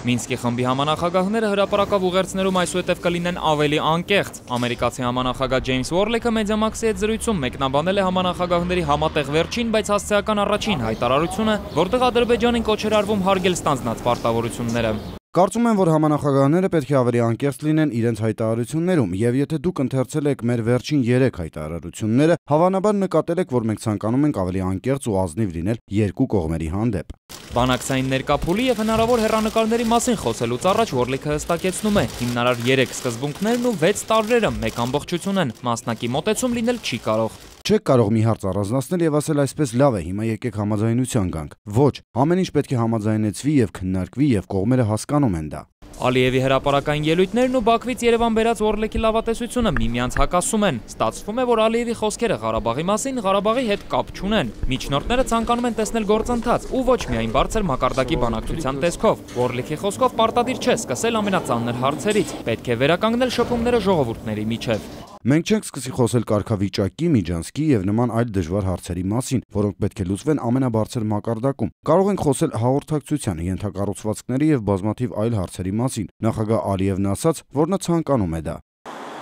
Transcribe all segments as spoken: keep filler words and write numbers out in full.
Մինսկի խմբի համանախագահները հրապարակավ ուղերձներում այսուհետև կլինեն ավելի անկեղծ։ Ամերիկացի համանախագահ Ջեյմս Ուորլեքը Մեդիամաքսի հետ զրույցում մեկնաբանել է համանախագահների համատեղ վերջին, բայց հասցեական առաջին հայտարարությունը, որտեղ Ադրբեջանին կոչ էր արվում հարգել ստանձնած պարտավորությունները։ Կարծում եմ, որ համանախագահները պետք է ավելի անկեղծ լինեն իրենց հայտարարություններում, եւ եթե դուք ընթերցել եք մեր վերջին երեք հայտարարությունները, հավանաբար նկատել եք, որ մենք ցանկանում ենք ավելի անկեղծ ու ազնիվ լինել երկու կողմերի հանդեպ։ Բանակցային ներկափուլի եւ հնարավոր հեռանկարների մասին խոսելուց առաջ Ուորլեքը հստակեցնում է, հիմնարար երեք սկզբունքներն ու վեց տարրերը մեկ ամբողջություն են, մասնակի մոտեցում լինել չի կարող։ Չեք կարող մի հարց առանձնացնել եւ ասել այսպես լավ է, հիմա եկեք համաձայնության գանք։ Ոչ, ամեն ինչ պետք է համաձայնեցվի եւ քննարկվի եւ կողմերը հասկանում են դա։ Ալիևի հրապարակային ելույթներն ու Բաքվից Երևան բերած Ուորլեքի լավատեսությունը միմյանց հակասում են։ Ստացվում է, որ Ալիևի խոսքերը Ղարաբաղի մասին Ղարաբաղի հետ կապ չունեն։ Միջնորդները ցանկանում են տեսնել գործընթաց ու ոչ միայն բարձր մակարդակի բանակցության տեսքով։ Ուորլեքի խոսքով պարտադիր չէ սկսել ամենածանր հարցերից։ Պետք է վերականգնել շփումները ժողովուրդների միջև։ Մենք չենք սկսի խոսել կարգավիճակի, միջանցքի եւ նման այլ դժվար հարցերի մասին, որոնք պետք է լուծվեն ամենաբարձր մակարդակում։ Կարող ենք խոսել հաղորդակցության, ենթակառուցվածքների եւ բազմաթիվ այլ հարցերի մասին։ Նախագահ Ալիևն ասաց, որ նա ցանկանում է դա։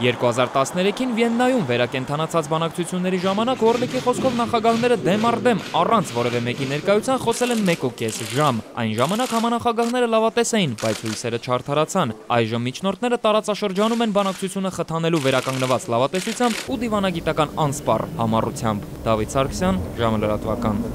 երկու հազար տասներեքին Վիեննայում վերակենդանացած բանակցությունների ժամանակ Ուորլեքի խոսքով նախագահները դեմ առ դեմ առանց որևէ մեկի ներկայության խոսել են մեկ ու կես ժամ։ Այն ժամանակ համանախագահները լավատես էին, բայց հույսերը չարդարացան։ Այժմ միջնորդները տարածաշրջանում են բանակցությունը խթանելու վերականգնված լավատեսությամբ ու դիվանագիտական անսպառ համառությամբ։ Դավիթ Սարգսյան, ժամը լրատվական։